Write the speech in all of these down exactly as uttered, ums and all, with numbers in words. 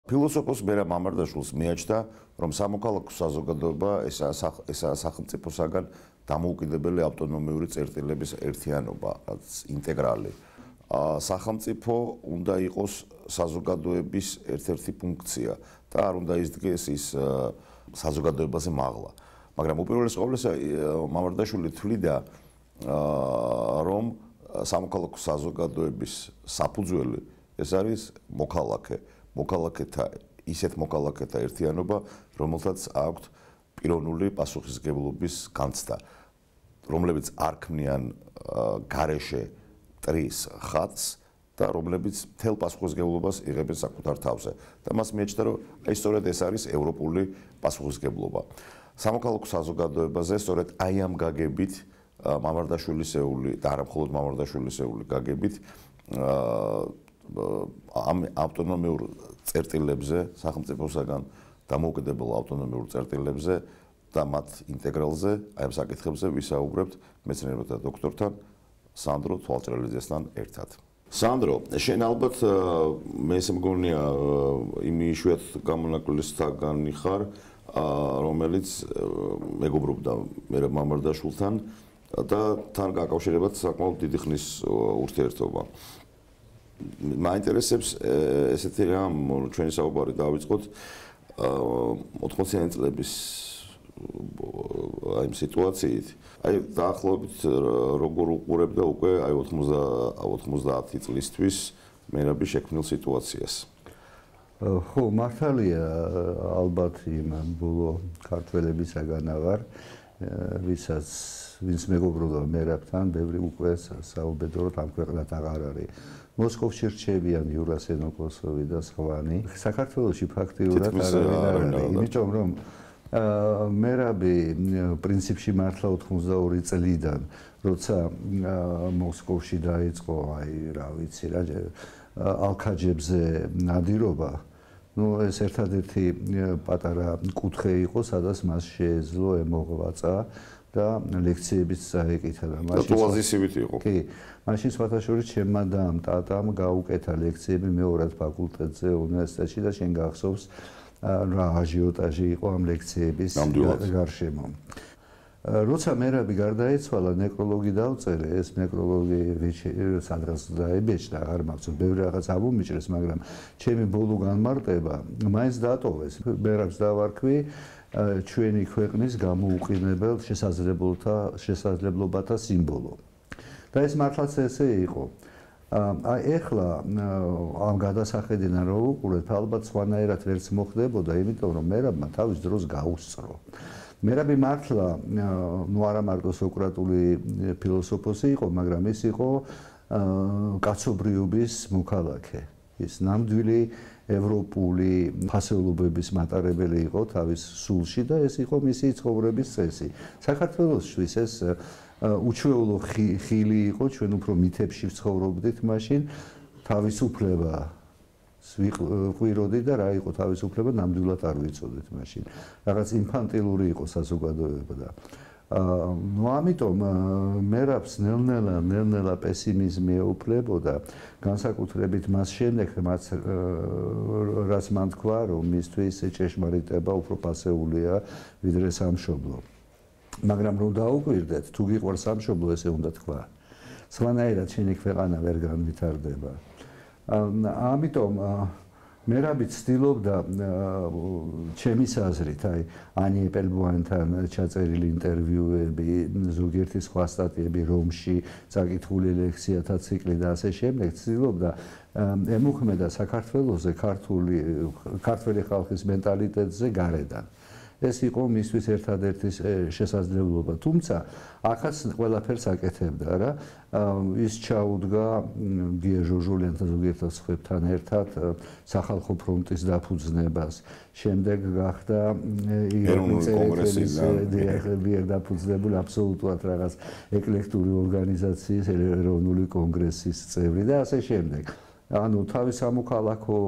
ფილოსოფოს მერაბ მამარდაშვილს მიაჩნდა, რომ სამოქალაქო საზოგადოება ესაა სახელმწიფოსაგან დამოუკიდებელი ავტონომიური წერტილების ერთიანობა, რაც ინტეგრალი. სახელმწიფო უნდა იყოს საზოგადოების ერთ-ერთი ფუნქცია და არ უნდა იზრდეს ის საზოგადოებაზე მაღლა. მაგრამ უპირველეს ყოვლისა მამარდაშვილი თვლიდა, რომ სამოქალაქო საზოგადოების საფუძველი ეს არის მოქალაქე, მოქალაქეთა ისეთ მოქალაქეთა ერთიანობა, რომელთაც აქვთ პიროვნული პასუხისმგებლობის განცდა, რომლებიც არ ქმნიან გარეშე მტრის ხატს და რომლებიც მთელ პასუხისმგებლობას იღებენ საკუთარ თავზე. და მას მიეჩნდა, რომ აი სწორედ ეს არის ევროპული პასუხისმგებლობა. სამოქალაქო საზოგადოებაზე სწორედ აი ამ გაგებით მამარდაშვილისეული და არა მხოლოდ მამარდაშვილისეული გაგებით ამ ავტონომიურ წერტილებზე, სახელმწიფოსაგან დამოუკიდებელ ავტონომიურ წერტილებზე და მათ ინტეგრალზე, აი ამ საკითხებზე ვისაუბრებთ მეცნიერებათა დოქტორთან სანდრო თვალჭრელიძესთან ერთად. სანდრო, შენ ალბათ მე ესე მგონია იმ იშვიათ გამონაკლისთაგანი ხარ, რომელიც მეგობრობდა მერაბ მამარდაშვილთან და თან გაკავშირებად საკმაოდ დიდი ხნის ურთიერთობა. მაინტერესებს ესეთი რამ, ჩვენი საუბარი დავიწყოთ ოთხმოციანი წლების აი ამ სიტუაციით. აი დაახლოებით როგორ უყურებდა უკვე აი ოცდაათი წლისთვის მერაბის შექმნილ სიტუაციას. ხო, მართალია ალბათ იმ ბოლო ქართველებისაგან აღარ, ვისაც ვინც მეგობრობდა მერაბთან, ბევრი უკვე საუბედუროდ ამ ქვეყნად აღარ არის. მოსკოვში რჩებიან იურა სენოკოსოვი და სხვანი. საქართველოში ფაქტიურად არავინ არ არის, იმიტომ რომ მერაბი პრინციპში მართლა ოთხმოცდაორი წლიდან, როცა მოსკოვში დაიწყო, აი რა ვიცი რა, ალქაჯებზე ნადირობა, ну ეს ერთადერთი პატარა კუთხე იყო, სადაც მას შეეძლო ემოღვაწა და ლექციებიც წაეკითა და მაშინ ოზისივით იყო. კი, მაშინ სხვათა შორის ჩემმა დამ ტატამ გაუკეთა ლექციები მეორად ფაკულტეტზე უნივერსიტეტში და შენ გახსოვს რა აჟიოტაჟი იყო ამ ლექციების გარშემო. როცა მერაბი გარდაეცვალა, ნეკროლოგი დავწერე, ეს ნეკროლოგი სადღაც დაებეჭდა, აღარ მახსოვს, ბევრი რაღაც ამომიჭრეს, მაგრამ ჩემი ბოლო განმარტება მაინც დატოვეს. მერაბს დავარქვი ჩვენი ქვეყნის გამოუყენებელ შესაძლებლობათა შესაძლებლობათა სიმბოლო. და ეს მართლაც ესე იყო. აი ეხლა ამ გადასახედიდან რო უყურეთ, ალბათ სხვანაირად ვერც მოხდებოდა, იმიტომ რომ მერაბმა თავის დროს გაუსწრო. მერაბი მართლა ნუ არა მარტო სოკრატული ფილოსოფოსი იყო, მაგრამ ის იყო კაცობრიობის მოქალაქე. ის ნამდვილი ევროპული ფასეულობების მატარებელი იყო თავის სულში და ეს იყო მისი ცხოვრების წესი. საქართველოსთვის ეს უჩვეულო ხილი იყო, ჩვენ უფრო მითებში ვცხოვრობდით მაშინ, თავისუფლება ვიყვიროდი და რა იყო თავისუფლება, ნამდვილად არ ვიცოდით მაშინ. რაღაც ინფანტილური იყო საზოგადოება და ну ამიტომ მერაბს ნელ-ნელა ნელ-ნელა პესიმიზმი ეუფლებოდა, განსაკუთრებით მას შემდეგ, რაც მან თქვა, რომ მისთვის ჭეშმარიტება უფრო პასეულია ვიდრე სამშობლო. მაგრამ რომ დაუკვირდეთ, თუ გიყვარს სამშობლო, ესე უნდა თქვა. სხვანაირად შენი ქვეყანა ვერ განვითარდება. ამიტომ მერაბი ცდილობდა ჩემის აზრით, აი ანი ეპელბოანთან ჩაწერილი ინტერვიუები, ზოგიერთი სხვა სტატიები რომში, წაკითხული ლექციათა ციკლი და ასე შემდეგ, ცდილობდა ემუქმედა საქართველოზე ქართული ქართველი ხალხის მენტალიტეტზე გარედან. ეს იყო მისთვის ერთადერთი შესაძლებლობა, თუმცა ახაც ყველაფერს აკეთებდა რა. ის ჩაუდგა გია ჟოჟოლიანთან ზოგიერთ სხვებთან ერთად სახალხო ფრონტის დაფუძნებას. შემდეგ გახდა ეროვნული კონგრესის მიერ დაფუძნებული აბსოლუტურად რაღაც ეკლექტური ორგანიზაციის ეროვნული კონგრესის წევრი და ასე შემდეგ. ანუ თავის სამოქალაქო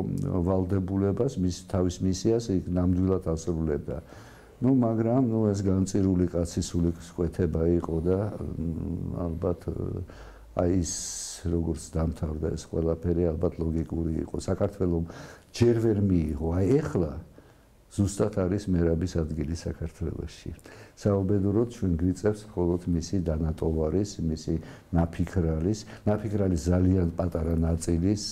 ვალდებულებას, მის თავის მისიას იქ ნამდვილად ასრულებდა. ну, მაგრამ ну ეს განწირული კაცის სული სკვეთება იყო და ალბათ აი ის როგორც დამთავრდა ეს ყველაფერი ალბათ ლოგიკური იყო. საქართველოს ჯერ ვერ მიიღო. აი ეხლა ზუსტად არის მერაბის ადგილი საქართველოში. საუბედუროდ ჩვენ გვიწევს მხოლოდ მისი დანატოვარის, მისი ნაფიქრალის, ნაფიქრალის ძალიან პატარა ნაწილის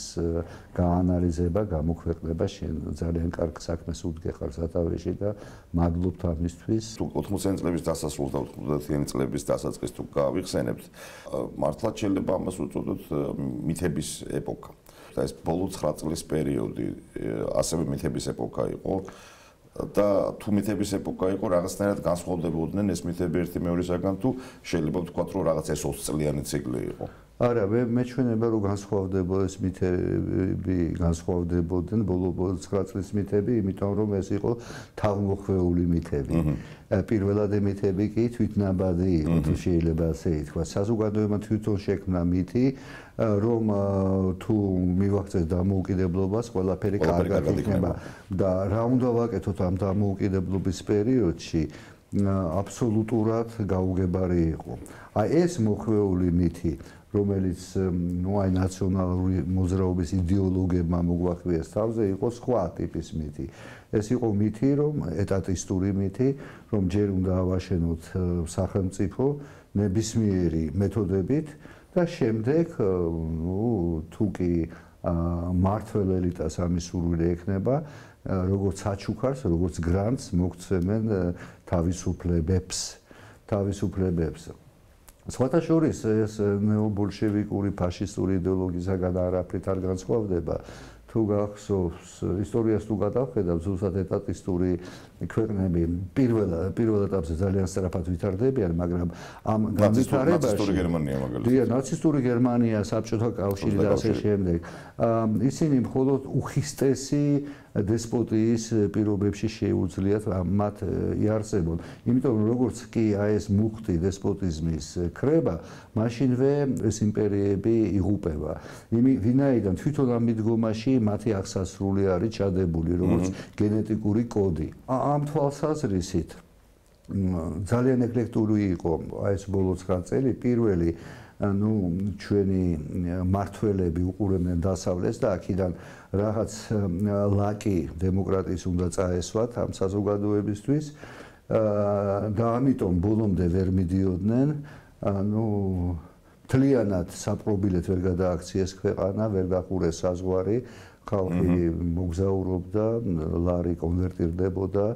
გაანალიზება, გამოქვეყნება. შენ ძალიან კარგ საქმეს უდგეხარ სათავეში და მადლობთ ამისთვის. თუ ოთხმოციანი წლების დასასრულს და ოცდაათიანი წლების დასაწყისს თუ გავიხსენებთ, მართლაც შეიძლება ამას უწოდოთ მითების ეპოქა. და ეს ბოლო ცხრა წლის პერიოდი ასევე მითების ეპოქა იყო. და თუ მითების ეპოქა იყო, რაღაცნაირად განსხვავდებოდნენ ეს მითები ერთი მეორისაგან, თუ შეიძლება ვთქვათ, რომ რაღაც ეს ოცი წლიანი ციკლი იყო. არა, მე მეჩვენება რომ განსხვავდება ეს მითები, განსხვავდებოდნენ ბოლო ცხრა წლის მითები, იმიტომ რომ ეს იყო თავმოხვეული მითები. პირველად მითები კი თვითნაბადი იყო, თუ შეიძლება ასე ითქვას. საზოგადოებამ თვითონ შექმნა მითი, რომ თუ მივახცეს დამოუკიდებლობას, ყველაფერი კარგად იქნება და რა უნდა ვაკეთოთ ამ დამოუკიდებლობის პერიოდში, აბსოლუტურად გაუგებარი იყო. აი ეს მოხვეული მითი, რომელიც ნუ აი ნაციონალური მოძრაობის იდეოლოგებმა მოგვახვიეს თავზე, იყო სხვა ტიპის მითი. ეს იყო მითი, რომ ეტატისტური მითი, რომ ჯერ უნდა ავაშენოთ სახელმწიფო ნებისმიერი მეთოდებით და შემდეგ, ნუ თუ კი მართველ ელიტას ამის სურვილი ექნება, როგორც საჩუქარს, როგორც გრანტს მოგცემენ თავისუფლებებს, თავისუფლებებს. სხვათა შორის ეს ნეობოლშევიკური ფაშისტური იდეოლოგიისაგან არაფრით არ განსხვავდება. თუ გახსოვს ისტორიას თუ გადავხედავ, ზუსტად ეტატისტური ქვეყნები პირველ პირველ ეტაპზე ძალიან სწრაფად ვითარდებიან, მაგრამ ამ განვითარებაში ნაცისტური გერმანია მაგალითად. დიახ, ნაცისტური გერმანია, საბჭოთა კავშირი და ასე შემდეგ. ისინი მხოლოდ უხისტესი დესპოტიის პირობებში შეუძლიათ მათ იარსებონ. იმიტომ რომ როგორც კი აი ეს მუხტი დესპოტიზმის ქრება, მაშინვე ეს იმპერიები იღუპება. ვინაიდან თვითონ ამ მიდგომაში მათი აღსასრული არის ჩადებული, როგორც გენეტიკური კოდი. ამ თვალსაზრისით ძალიან ეკლექტური იყო აი ეს ბოლო ცხრა წელი, პირველი ну ჩვენი მართველები უყურებდნენ დასავლეთს და აქედან რაღაც ლაკი დემოკრატიის უნდა წაესვათ ამ საზოგადოებისთვის და ამიტომ ბოლომდე ვერ მიდიოდნენ ну თლიანად საპრობილეთ ვერ გადააქციეს ქვეყანა, ვერ დახურეს საზღვარი, ხალხი მოგზაურობდა, ლარი კონვერტირდებოდა,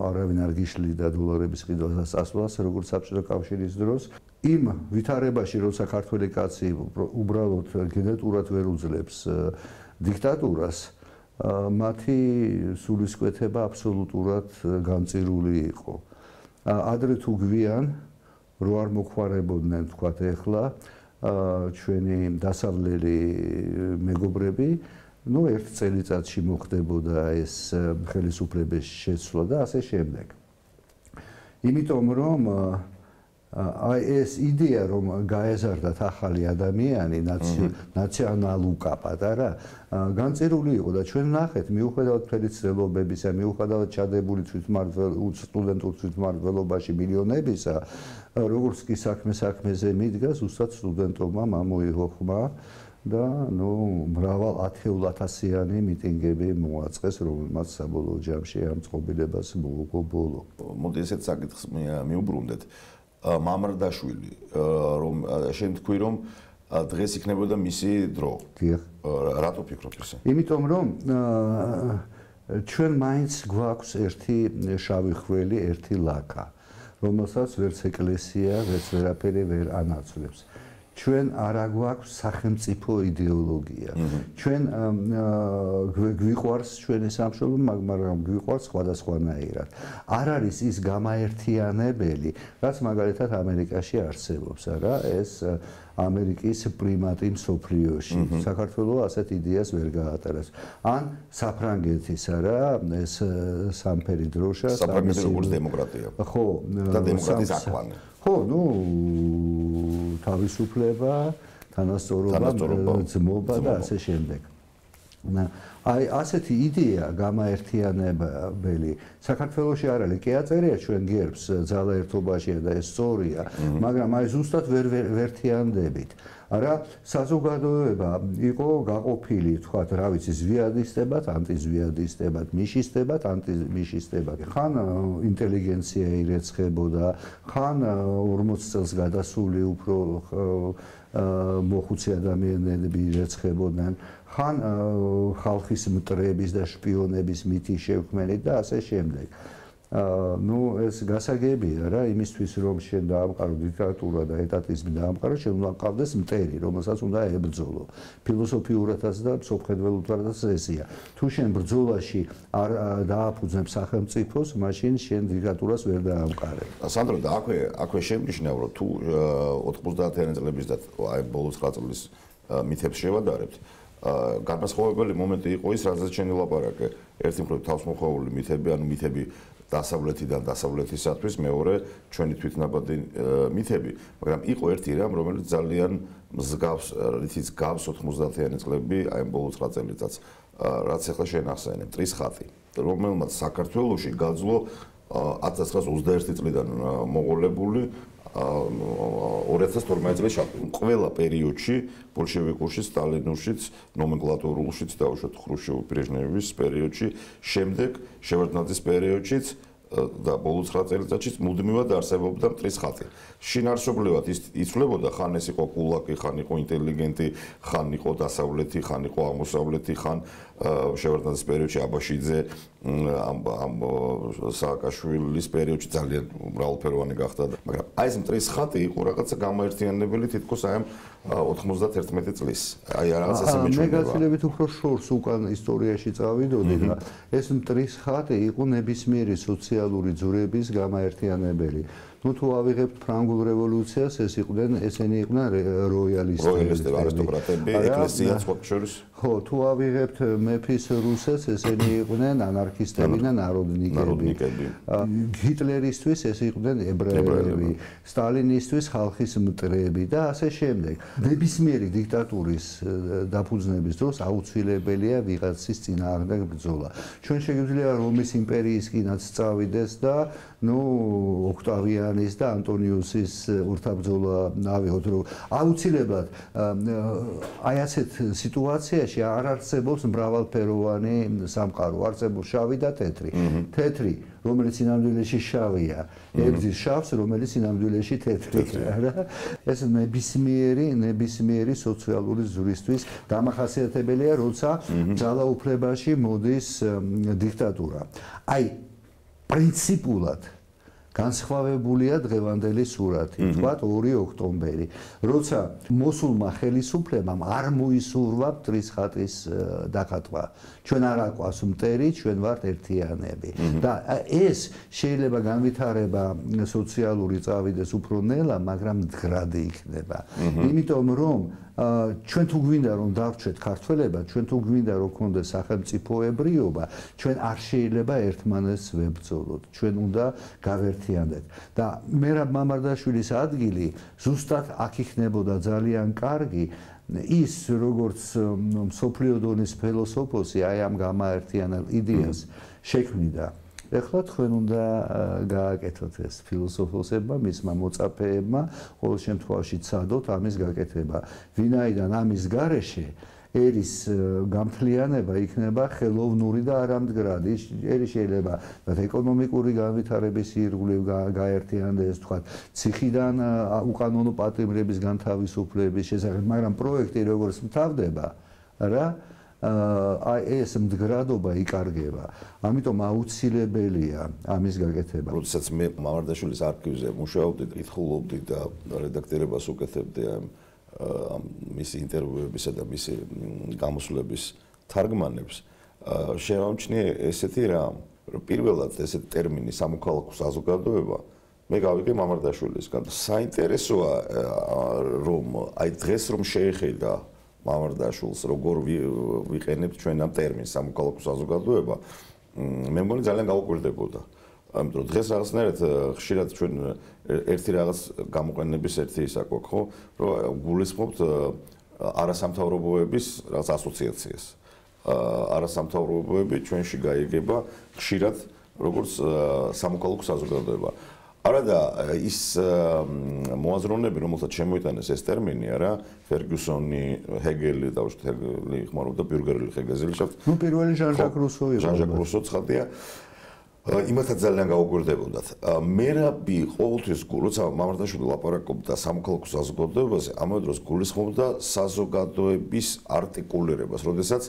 არავინ არ გიშლიდა დოლარების ყიდვას ასვლას, როგორც საბჭოთა კავშირის დროს. იმ ვითარებაში, როცა ქართველი კაცი უბრალოდ გენეტურად ვერ უძლებს დიქტატურას, მათი სულისკვეთება აბსოლუტურად განწირული იყო. ადრე თუ გვიან რო არ მოხوارებოდნენ თქვათ ეხლა ჩვენი დასავლელი მეგობრები, ну ერთ წელიწადში მოხდებოდა ეს ხელისუფლების შეცვლა და ასე შემდეგ. იმიტომ რომ აი ეს იდეა რომ გაეზარდათ ახალი ადამიანი ნაციონალუკა პატარა განწირული იყო და ჩვენ ნახეთ მიუხედავად მთელი ცდილობებისა, მიუხედავად ჩადებული თვითმმართველობის სტუდენტურ თვითმმართველობაში მილიონებისა, როგორც კი საქმე საქმეზე მიდგა, ზუსტად სტუდენტებმა მომოიღო ხმა და ნუ მრავალ ათეულ ათასიანი მიტინგები მოაწყეს, რომელმაც საბოლოო ჯამში ამ წყობილებას მოუგო ბოლო. მოდი ესეთ საკითხს მიუბრუნდეთ. მამრდაშვილი, რომ შენ თქვი, რომ დღეს იქნებოდა მისი დრო. დიახ. რატო ფიქრობ ესე? იმიტომ რომ ჩვენ მაინც გვაქვს ერთი შავი ხველი, ერთი ლაკა, რომელსაც ვერც ეკლესია, ვერც ვერაფერი ვერ ანაცვლებს. ჩვენ არ აგვაქვს სახელმწიფო იდეოლოგია. ჩვენ გვიყვარს ჩვენი სამშობლო, მაგრამ გვიყვარს სხვადასხვანაირად. არ არის ის გამაერთიანებელი, რაც მაგალითად ამერიკაში არსებობს, არა? ეს ამერიკის პრიმატი მსოფლიოში. საქართველოს ასეთ იდეას ვერ გაატარებს. ან საფრანგეთის, არა? ეს სამფერი დროშა, საფრანგეთის როგორც დემოკრატია. ხო, და დემოკრატიის აკვანი. ხო, ну, თავისუფლება, თანასწორობა, ძმობა და ასე შემდეგ. აი, ასეთი იდეა გამაერთიანებელი საქართველოში არ არის. კი აწერია ჩვენ გერბს ძალაერთობაშია და ეს სწორია, მაგრამ აი ზუსტად ვერ ვერთიანდებით. არა საზოგადოება იყო გაყოფილი, თქვათ, რა ვიცი, ზვიადისტებად, ანტიზვიადისტებად, მიშისტებად, ანტიმიშისტებად. ხან ინტელიგენცია ირეცხებოდა, ხან ორმოც წელს გადასული უფრო მოხუცი ადამიანები ირეცხებოდნენ, ხან ხალხის მტრების და შპიონების მითის შევქმნით და ასე შემდეგ. ნუ ეს გასაგებია რა, იმისთვის რომ შენ დაამყარო დიქტატურა და ეტატიზმი დაამყარო, შენ უნდა ყავდეს მტერი, რომელსაც უნდა ებრძოლო. ფილოსოფიურადაც და მსოფლმხედველობითაც ესეა. თუ შენ ბრძოლაში არ დააფუძნებ სახელმწიფოს, მაშინ შენ დიქტატურას ვერ დაამყარებ. სანდრო, და აქვე აქვე შემნიშნავ, რომ თუ ოთხმოცდაათიანი წლების და აი ბოლო ცხრა წლის მითებს შევადარებთ, განმასხვავებელი მომენტი იყო ის, რაზეც შენ ელაპარაკე. ერთი მხრივ თავისმოყვარული მითები, ანუ მითები დასავლეთიდან დასავლეთისათვის, მეორე ჩვენი თვითნაბადი მითები, მაგრამ იყო ერთი რამ, რომელიც ძალიან მსგავს, რითიც გავს ოთხმოცდაათიანი წლები, აი ბოლო ცხრა წელიწადს, რაც ახლა შენახსენე, მტრის ხატი, რომელმაც საქართველოში გაძლო ათას ცხრაასი ოცდაერთი წლიდან მოყოლებული ორი ათას თორმეტი წლის შაბლონი. ყველა პერიოდში, ბოლშევიკურშიც, სტალინურშიც, ნომენკლატურულშიც, დაუშვათ ხრუშჩოვ-ბრეჟნევის პერიოდში, შემდეგ შევარდნაძის პერიოდშიც და ბოლო ცხრა წელიწადშიც მუდმივად არსებობდა მტრის ხატი. შინაარსობრივად ის იცვლებოდა, ხან ეს იყო კულაკი, ხან იყო ინტელიგენტი, ხან იყო დასავლეთი, ხან იყო აღმოსავლეთი, ხან შევარდნაძის პერიოდში აბაშიძე, ამ სააკაშვილის პერიოდში ძალიან მრავალფეროვანი გახდა. მაგრამ აი ეს მტრის ხატი იყო რაღაცა გამოერთიანებელი თითქოს აი ამ ოთხმოცდაათერთმეტი წლის. აი რაღაც ესე მეჩვენება. მე გაცილებით უფრო შორს უკან ისტორიაში წავიდოდი და ეს მტრის ხატი იყო ნებისმიერი სოციალური ძვრების გამაერთიანებელი. ნუ თუ ავიღებთ ფრანგულ რევოლუციას, ეს იყვნენ, ესენი იყვნენ როიალისტები, როიალისტები, არისტოკრატები, ეკლესიაც ხოთშორის. ხო, თუ ავიღებთ მეფის რუსეთს, ესენი იყვნენ ანარქისტები და ნაროდნიკები. ჰიტლერისთვის ეს იყვნენ ებრაელები, სტალინისთვის ხალხის მტრები და ასე შემდეგ. ნებისმიერი დიქტატურის დაფუძნების დროს აუცილებელია ვიღაცის წინააღმდეგ ბრძოლა. ჩვენ შეგვიძლია რომის იმპერიისკინაც წავიდეს და ნუ ოქტავიანის და ანტონიუსის ურთაბრძოლა ავიღოთ, რომ აუცილებლად აი ასეთ სიტუაციაში არ არსებობს მრავალფეროვანი სამყარო, არსებობს შავი და თეთრი. თეთრი, რომელიც სინამდვილეში შავია, ებრძვის შავს, რომელიც სინამდვილეში თეთრია, რა. ეს ნებისმიერი, ნებისმიერი სოციალური ზვრისთვის დამახასიათებელია, როცა ძალაუფლებაში მოდის დიქტატურა. აი პრინციპულად განსხვავებულია დღევანდელი სურათი, თქვათ ორი ოქტომბერი, როცა მოსულმა ხელისუფლებამ არ მოისურვა მტრის ხატის დახატვა. ჩვენ არ აყვავს მტერი, ჩვენ ვართ ერთიანები. და ეს შეიძლება განვითარება სოციალური წავიდეს უფრო ნელა, მაგრამ მდგრადი იქნება. იმიტომ რომ ჩვენ თუ გვინდა რომ დავრჩეთ ქართველებად, ჩვენ თუ გვინდა რომ გქონდეს სახელმწიფოებრიობა, ჩვენ არ შეიძლება ერთმანეთს ვებრძოლოთ. ჩვენ უნდა გავერთიანდეთ. და მერაბ მამარდაშვილის ადგილი ზუსტად აქ იქნებოდა ძალიან კარგი. ის როგორც მსოფლიო დონის ფილოსოფოსი აი ამ გამაერთიანებელ იდეას შექმნიდა. ეხლა თქვენ უნდა გააკეთოთ ეს ფილოსოფოსებმა, მისმა მოწაფეებმა, ყოველ შემთხვევაში ცადოთ ამის გაკეთება. ვინაიდან ამის გარეშე ერის გამთლიანება იქნება ხელოვნური და არამდგრადი. ერი შეიძლება ეკონომიკური განვითარების ირგვლივ გაერთიანდეს, თქვა, ციხიდან უკანონო პატიმრების განთავისუფლების შესახებ, მაგრამ პროექტი როგორც მთავრდება, რა აი ეს მდგრადობა იკარგება. ამიტომ აუცილებელია ამის გაკეთება. როდესაც მე მამარდაშვილის არქივზე მუშაობდი, კითხულობდი და რედაქტორებას უკეთებდი ამ მისი ინტერვიუებისა და მისი გამოსვლების თარგმანებს, შევამჩნიე ესეთი რამ, რომ პირველად ესეთი ტერმინი სამოქალაქო საზოგადოება მე გავიგე მამარდაშვილისგან. საინტერესოა რომ აი დღეს რომ შეეხედა მამარდაშვილს როგორ ვიყენებთ ჩვენ ამ ტერმინს სამოქალაქო საზოგადოება, მე მგონი ძალიან გავუკვირდებოდა. ამიტომ დღეს რაღაცნაირად ხშირად ჩვენ ერთი რაღაც გამოყენების ერთი ის აქვს, ხო, რომ გულისხმობთ არასამთავრობოების რაღაც ასოციაციას. არასამთავრობოები ჩვენში გაიგება ხშირად როგორც სამოქალაქო საზოგადოება. არა და ის მოაზროვნები, რომელსაც შემოიტანეს ეს ტერმინი, არა, ფერგიუსონი, ჰეგელი და უშუალოდ ჰეგელი ხმარობდა ბიურგერელი ჰეგეზელიშაფტ. ნუ პირველი ჟან-ჟაკ რუსო იყო. ჟან-ჟაკ რუსო ცხადია. იმათაც ძალიან გაუგვირდებოდათ. მერაბი ყოველთვის როცა მამარდაშვილი ლაპარაკობდა სამოქალაქო საზოგადოებაზე, ამავე დროს გულისხმობდა საზოგადოების არტიკულირებას, როდესაც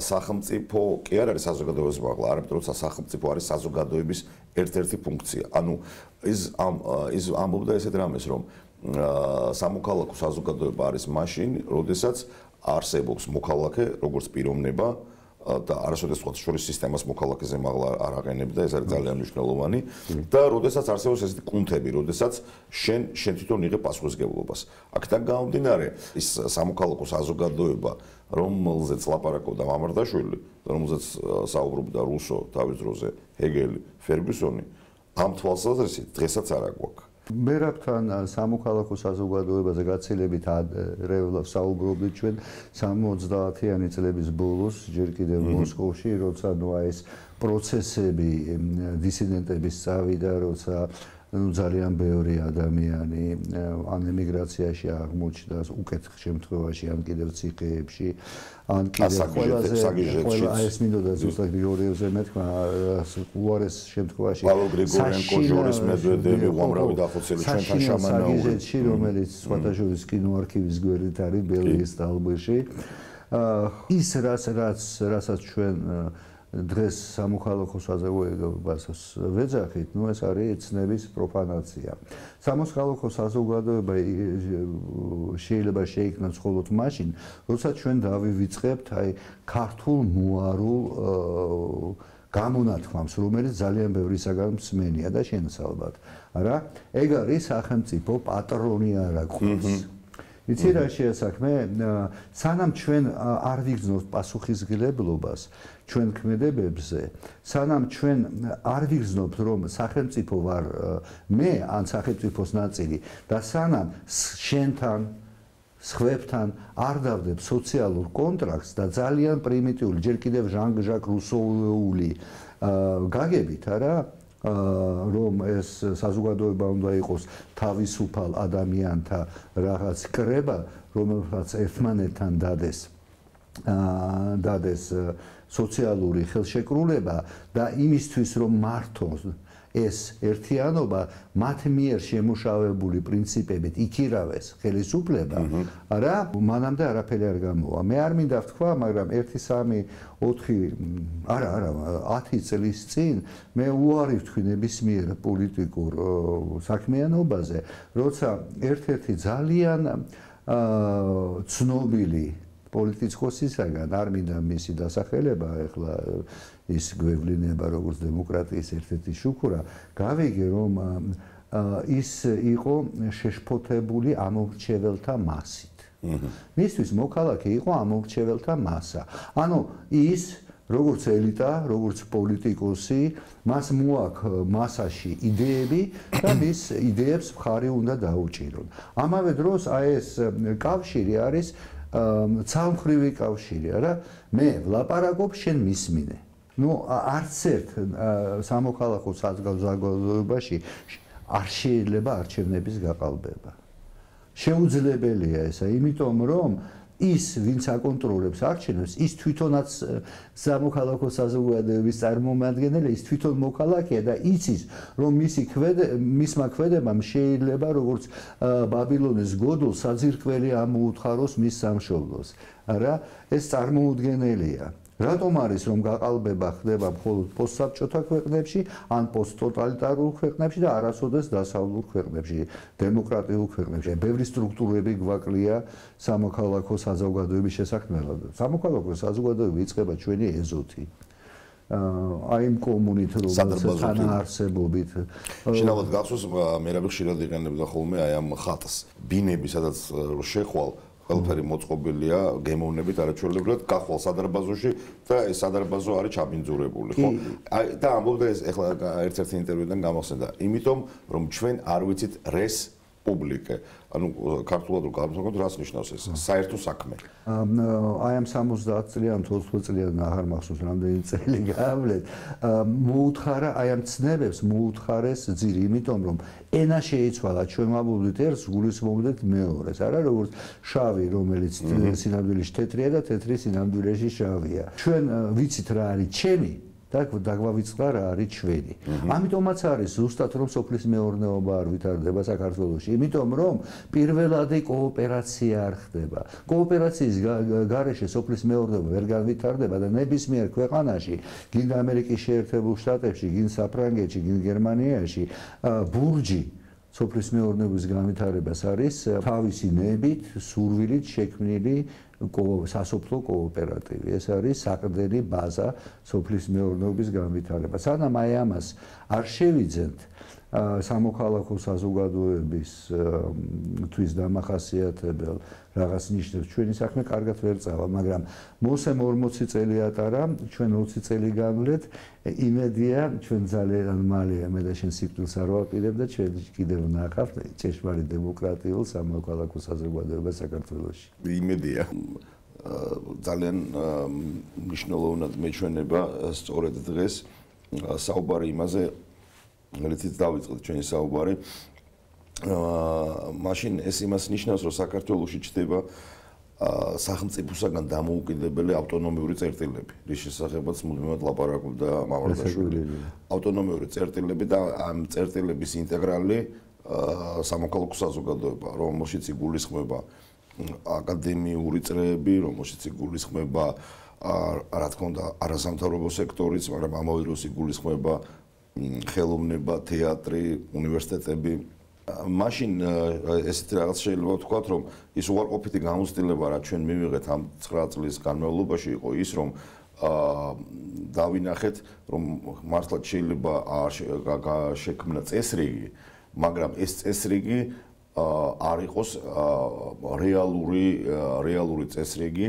სახელმწიფო კი არ არის საზოგადოების მაღლა, არამედ როცა სახელმწიფო არის საზოგადოების ერთ-ერთი ფუნქცია. ანუ ის ამ ის ამბობდა ესეთ რამეს, რომ სამოქალაქო საზოგადოება არის მაშინ, როდესაც არსებობს მოქალაქე, როგორც პიროვნება და არასოდეს სხვა შორის სისტემას მოქალაქეზე მაღლა არ აღენებდა, ეს არის ძალიან მნიშვნელოვანი და როდესაც არსებობს ესეთი კუნთები, როდესაც შენ შენ თვითონ იღებ პასუხისმგებლობას. აქედან გამომდინარე, ის სამოქალაქო საზოგადოება, რომელზეც ლაპარაკობდა მამარდაშვილი, რომელზეც საუბრობდა რუსო თავის დროზე, ჰეგელი, ფერგიუსონი, ამ თვალსაზრისით დღესაც არ აგვაქვს. მერაბთან სამოქალაქო საზოგადოებაზე გაცილებით ადრეულად საუბრობდით ჩვენ სამოცდაათიანი წლების ბოლოს, ჯერ კიდევ მოსკოვში, როცა ნუ ეს პროცესები დისიდენტების წავიდა, როცა ნუ ძალიან ბევრი ადამიანი ან ემიგრაციაში აღმოჩნდა უკეთ შემთხვევაში, ან კიდევ ციხეებში, ან კიდევ ყველაზე ყველა ეს მინდოდა ზუსტად გრიგორიევზე მეთქმა, უარეს შემთხვევაში პავლო გრიგორიენკო, ჟორის მედვედევი, უამრავი დახოცილი ჩვენთან შამანაური, რომელიც სხვათა შორის კინოარქივის გვერდით არის ბელგიის სტალბერში. ის რაც რაც რასაც ჩვენ დღეს სამოქალაქო საზოგადოებას ვეძახით, ნუ ეს არის ცნების პროფანაცია. სამოქალაქო საზოგადოება შეიძლება შეიქმნას მხოლოდ მაშინ, როცა ჩვენ დავივიწყებთ აი ქართულ მოარულ გამონათქვამს, რომელიც ძალიან ბევრისაგან მსმენია და შენს ალბათ. არა, ეგ არის სახელმწიფო პატრონი არა ყავს. იცი რა შეასაქმე? სანამ ჩვენ არ ვიგრძნობთ პასუხისმგებლობას ჩვენ ქმედებებზე, სანამ ჩვენ არ ვიგრძნობთ, რომ სახელმწიფო ვარ მე ან სახელმწიფოს ნაწილი და სანამ შენთან სხვებთან არ დავდებ სოციალურ კონტრაქტს და ძალიან პრიმიტიული, ჯერ კიდევ ჟან-ჟაკ რუსოული გაგებით, არა? რომ ეს საზოგადოება უნდა იყოს თავისუფალ ადამიანთა რაღაც კრება, რომელსაც ერთმანეთთან დადეს დადეს სოციალური ხელშეკრულება და იმისთვის რომ მართოს ეს ერთიანობა მათ მიერ შემუშავებული პრინციპებით იქირავეს ხელისუფლება, არა, მანამდე არაფერი არ გამოვა. მე არ მინდა ვთქვა, მაგრამ ერთი სამი ოთხი არა, არა, ათი წლის წინ მე უარი ვთქვი ნებისმიერ პოლიტიკურ საქმიანობაზე, როცა ერთ-ერთი ძალიან ცნობილი პოლიტიკოსისაგან, არ მინდა მისი დასახელება, ეხლა ის გვევლინება როგორც დემოკრატიის ერთ-ერთი შუქურა, გავიგე რომ ის იყო შეშფოთებული ამორჩეველთა მასით. მისთვის მოქალაქე იყო ამორჩეველთა მასა. ანუ ის როგორც ელიტა, როგორც პოლიტიკოსი, მას მოაქვს მასაში იდეები და მის იდეებს მხარი უნდა დაუჭირონ. ამავე დროს აი ეს კავშირი არის ცალმხრივი კავშირი, არა? მე ვლაპარაკობ, შენ მისმინე. ნუ არც ერთ სამოქალაქო საზოგადოებაში არ შეიძლება არჩევნების გაყალბება. შეუძლებელია ესა, იმიტომ რომ ის, ვინც აკონტროლებს არჩევნებს, ის თვითონაც სამოქალაქო საზოგადოების წარმომადგენელი, ის თვითონ მოქალაქეა და იცის, რომ მისი მისმა ქმედებამ შეიძლება როგორც ბაბილონის გოდოლს საძირკველი ამოუთხაროს მის სამშობლოს. არა, ეს წარმოუდგენელია. რატომ არის რომ გაყალბება ხდება მხოლოდ პოსტსაბჭოთა ქვეყნებში ან პოსტტოტალიტარულ ქვეყნებში და არასოდეს დასავლურ ქვეყნებში, დემოკრატიულ ქვეყნებში? ბევრი სტრუქტურები გვაკლია სამოქალაქო საზოგადოების შესაქმნელად. სამოქალაქო საზოგადოება იწყება ჩვენი ეზოთი. აი იმ კომუნით რომელსაც თანაარსებობით. შინაურად გახსოვს, მერაბი ხშირად იყენებდა ხოლმე აი ამ ხატს, ბინები, სადაც შეხვალ ყველაფერი მოწყობილია გემოვნებით არაჩვეულებრივად გახვალ სადარბაზოში და ეს სადარბაზო არის ჩაბინძურებული, ხო? აი და ამბობდა ეს ეხლა ერთ-ერთი ინტერვიუდან გამახსენდა, იმიტომ რომ ჩვენ არ ვიცით რეს პუბლიკე. ანუ ქართულად რო გავიმსახოთ, რას ნიშნავს ეს? საერთო საქმე. აი ამ სამოცდაათ წლიან, ოცდაათ წლიან აღარ მახსოვს რამდენი წელი გავავლეთ. მოუთხარა აი ამ ცნებებს, მოუთხარეს ძირი, იმიტომ რომ ენა შეიცვალა ჩვენ ვაბობდით ერთს, გულისხმობდით მეორეს. არა როგორც შავი, რომელიც სინამდვილეში თეთრია და თეთრი სინამდვილეში შავია. ჩვენ ვიცით რა არის ჩემი და დაგვავიწყდა რა არის ჩვენი. ამიტომაც არის ზუსტად რომ სოფლის მეურნეობა არ ვითარდება საქართველოში, იმიტომ რომ პირველადი კოოპერაცია არ ხდება. კოოპერაციის გარეშე სოფლის მეურნეობა ვერ განვითარდება და ნებისმიერ ქვეყანაში, გინდა ამერიკის შეერთებულ შტატებში, გინდა საფრანგეთში, გინდა გერმანიაში, ბურჯი სოფლის მეურნეობის განვითარებას არის თავისი ნებით, სურვილით შექმნილი სასოფლო კოოპერატივი. ეს არის საყრდენი ბაზა სოფლის მეურნეობის განვითარებას. სანამ აი ამას არ შევიძენთ სამოქალაქო საზოგადოების თვის დამახასიათებელ რაღაც ნიშნებს ჩვენი საქმე კარგად ვერ წავა, მაგრამ მოსემ ორმოცი წელი ატარა, ჩვენ ოცი წელი განვლეთ, იმედია ჩვენ ძალიან მალე მე და შენ სიკვდილს არ ვაპირებ და ჩვენ კიდევ ვნახავთ ჭეშმარიტ დემოკრატიულ სამოქალაქო საზოგადოებას საქართველოში. იმედია ძალიან მნიშვნელოვნად მეჩვენება სწორედ დღეს საუბარი იმაზე რითიც დავიწყეთ ჩვენი საუბარი. აა მაშინ ეს იმას ნიშნავს, რომ საქართველოში ჩდება სახელმწიფოსაგან დამოუკიდებელი ავტონომიური წერტილები, რის შესახებაც მუდმივად ლაპარაკობდა მამარდაშვილი. ავტონომიური წერტილები და ამ წერტილების ინტეგრალი სამოქალაქო საზოგადოება, რომელშიც იგულისხმება აკადემიური წრეები, რომელშიც იგულისხმება რა თქმა უნდა არასამთავრობო სექტორიც, მაგრამ ამავე დროს იგულისხმება ხელოვნება, თეატრი, უნივერსიტეტები. მაშინ ესეთი რაღაც შეიძლება ვთქვათ, რომ ის უარყოფითი გამოცდილება, რაც ჩვენ მივიღეთ ამ ცხრა წლის განმავლობაში, იყო ის, რომ დავინახეთ, რომ მართლაც შეიძლება შექმნა წესრიგი, მაგრამ ეს წესრიგი არ იყოს რეალური რეალური წესრიგი.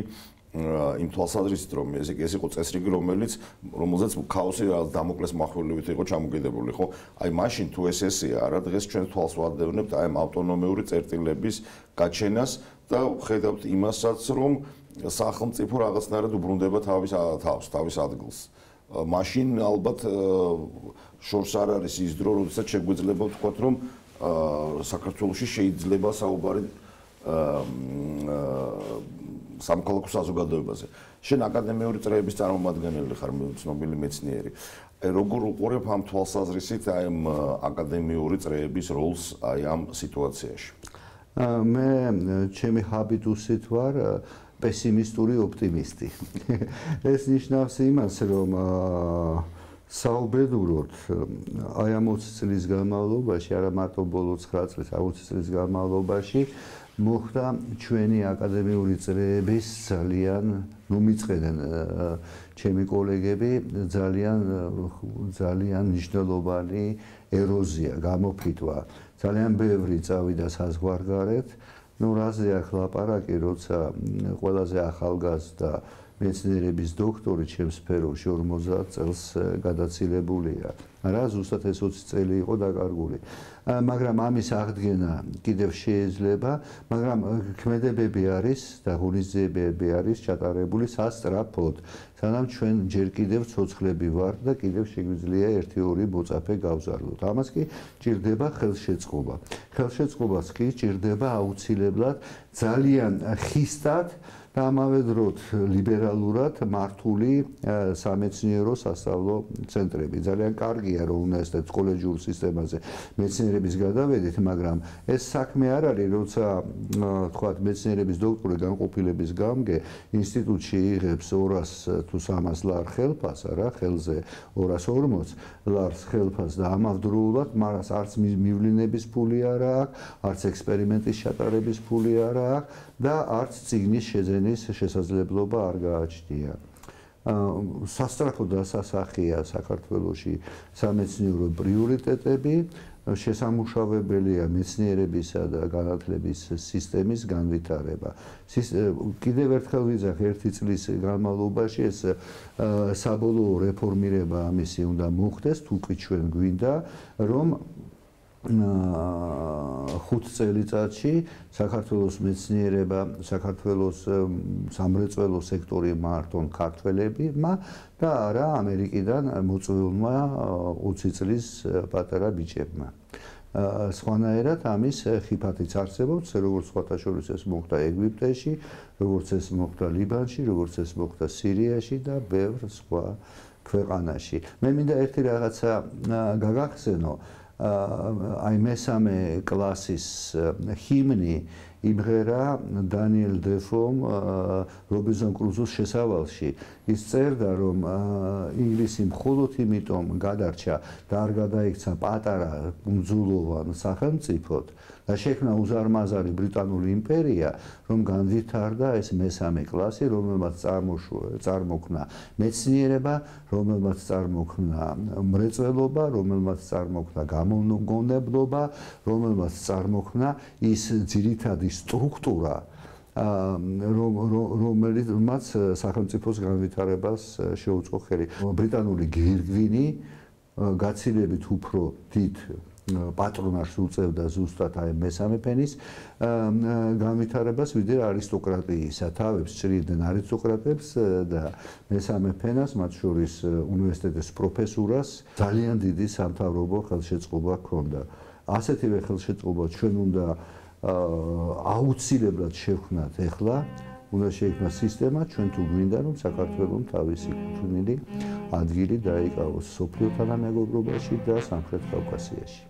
იმ თვალსაზრისით რომ ეს ეს იყო წესრიგი რომელიც რომელზეც ქაოსი დამოკლეს מחველივით იყო ჩამოკიდებული ხო აი მაშინ თუ ეს ესეა რა დღეს ჩვენ თვალს ვადევნებთ აი ამ ავტონომიური წერტილების გაჩენას და ხედავთ იმასაც რომ სახელმწიფო რაღაცნაირად უბრუნდება თავის თავს თავის ადგილს მაშინ ალბათ შორს არ არის ის დრო როდესაც შეგვეძლება ვთქვათ რომ საქართველოში შეიძლება საუბარი სამოქალაქო საზოგადოებაზე. შენ აკადემიური წრეების წარმომადგენელი ხარ, ცნობილი მეცნიერი. როგორ უყურებ ამ თვალსაზრისით აი ამ აკადემიური წრეების როლს აი ამ სიტუაციაში? მე ჩემი ჰაბიტუსით ვარ პესიმისტური ოპტიმისტი. ეს ნიშნავს იმას, რომ საუბედუროთ აი ამ ოცი წლის განმავლობაში, არა მარტო ბოლო ცხრა წლის, ოცი წლის განმავლობაში მოხდა ჩვენი აკადემიური წრეების ძალიან ნუ მიწყენენ ჩემი კოლეგები ძალიან ძალიან მნიშვნელოვანი ეროზია, გამოფიტვა. ძალიან ბევრი წავიდა საზღვარგარეთ. ნუ რაზე აქ ლაპარაკი, როცა ყველაზე ახალგაზრდა მეცნიერების დოქტორი ჩემს სფეროში ორმოცდაათ წელს გადაცილებულია. რა ზუსტად ეს ოცი წელი იყო დაკარგული. მაგრამ ამის აღდგენა კიდევ შეიძლება, მაგრამ ქმედებები არის და ღონისძიებები არის ჩატარებული სასწრაფოდ. სანამ ჩვენ ჯერ კიდევ ცოცხლები ვართ და კიდევ შეგვიძლია ერთი ორი მოწაფე გავზარდოთ. ამას კი ჭირდება ხელშეწყობა. ხელშეწყობას კი ჭირდება აუცილებლად ძალიან ხისტად და ამავე დროს ლიბერალურად მართული სამეცნიერო სასწავლო ცენტრები. ძალიან კარგია რომ უნდა ეს კოლეჯურ სისტემაზე მეცნიერების გადავედით, მაგრამ ეს საქმე არ არის, როცა თქვათ მეცნიერების დოქტორი განყოფილების გამგე ინსტიტუტში იღებს ორას თუ სამას ლარ ხელფას, არა, ხელზე ორას ორმოც ლარს ხელფას და ამავდროულად მას არც მივლინების ფული არ აქვს, არც ექსპერიმენტის ჩატარების ფული არ აქვს და არც წიგნის შეძენის შესაძლებლობა არ გააჩნია. სასწრაფო დასასახია საქართველოში სამეცნიერო პრიორიტეტები, შესამუშავებელია მეცნიერებისა და განათლების სისტემის განვითარება. კიდევ ერთხელ ვიძახ ერთი წლის განმავლობაში ეს საბოლოო რეფორმირება ამისი უნდა მოხდეს, თუ კი ჩვენ გვინდა რომ ხუთ წელიწადში საქართველოს მეცნიერება, საქართველოს სამრეწველო სექტორი მართონ ქართველებმა და არა ამერიკიდან მოწვეულმა ოცი წლის პატარა ბიჭებმა. სხვანაირად ამის ხიფათიც არსებობს, როგორც სხვათა შორის ეს მოხდა ეგვიპტეში, როგორც ეს მოხდა ლიბანში, როგორც ეს მოხდა სირიაში და ბევრ სხვა ქვეყანაში. მე მინდა ერთი რაღაცა გაგახსენო. აი მესამე კლასის ჰიმნი იმღერა დანიელ დეფომ რობინზონ კრუზოს შესავალში. ის წერდა, რომ ინგლისი მხოლოდ იმიტომ გადარჩა და არ გადაიქცა პატარა კუნძულოვან სახელმწიფოდ და შექმნა უზარმაზარი ბრიტანული იმპერია, რომ განვითარდა ეს მესამე კლასი, რომელმაც წარმოქმნა მეცნიერება, რომელმაც წარმოქმნა მრეწველობა, რომელმაც წარმოქმნა გამომგონებლობა, რომელმაც წარმოქმნა ის ძირითადი სტრუქტურა, რომელმაც სახელმწიფოს განვითარებას შეუწყო ხელი. ბრიტანული გვირგვინი გაცილებით უფრო დიდ პატრონაჟს უწევდა ზუსტად აი მესამე ფენის განვითარებას, ვიდრე არისტოკრატიისა. თავებს ჭრიდნენ არისტოკრატებს და მესამე ფენას, მათ შორის უნივერსიტეტის პროფესურას, ძალიან დიდი სამთავრობო ხელშეწყობა ჰქონდა. ასეთივე ხელშეწყობა ჩვენ უნდა აუცილებლად შევქმნათ ახლა, უნდა შეიქმნას სისტემა, ჩვენ თუ გვინდა რომ საქართველოს თავისი კუთვნილი ადგილი დაიკავოს სოფლიო თანამეგობრობაში და სამხრეთ კავკასიაში.